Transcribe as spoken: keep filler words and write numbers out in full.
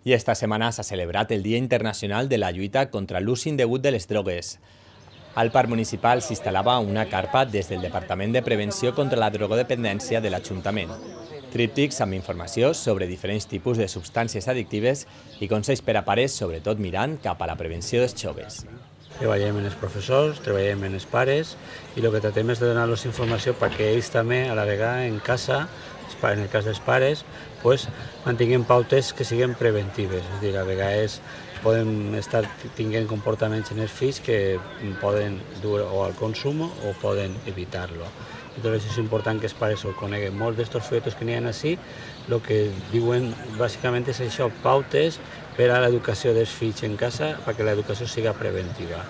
I esta setmana s'ha celebrat el Dia Internacional de la lluita contra l'ús indegut de les drogues. Al Parc Municipal s'instal·lava una carpa des del Departament de Prevenció contra la Drogodependència de l'Ajuntament. Tríptics amb informació sobre diferents tipus de substàncies addictives i consells per a pares, sobretot mirant cap a la prevenció dels joves. Treballem amb els professors, treballem amb els pares i el que tratem és de donar-los informació perquè ells també, a la vegada, en casa, en el cas dels pares, pues, mantinguin pautes que siguin preventives. És a dir, a vegades poden estar tinguent comportaments en els fills que poden dur o al consum o poden evitar-lo. Entonces és important que els pares ho coneguen. Molts d'estos folletos que n'hi ha així, el que diuen bàsicament és això, pautes per a l'educació dels fills en casa perquè l'educació siga preventiva.